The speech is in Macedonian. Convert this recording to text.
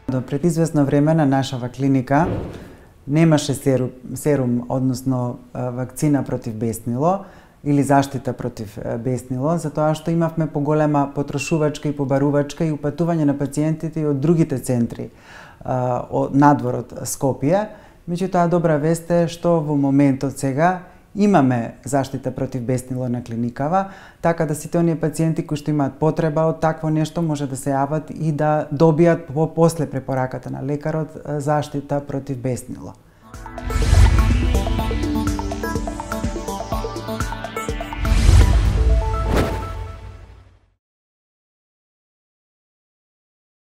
До пред известно време на нашава клиника немаше серум, односно вакцина против беснило или заштита против беснило, затоа што имавме поголема потрошувачка и побарувачка и упатување на пациентите и од другите центри надвор од Скопје. Меѓутоа, добра вест е што во моментот сега имаме заштита против беснило на клиникава, така да сите оние пациенти кои што имаат потреба од такво нешто може да се јават и да добијат после препораката на лекарот заштита против беснило.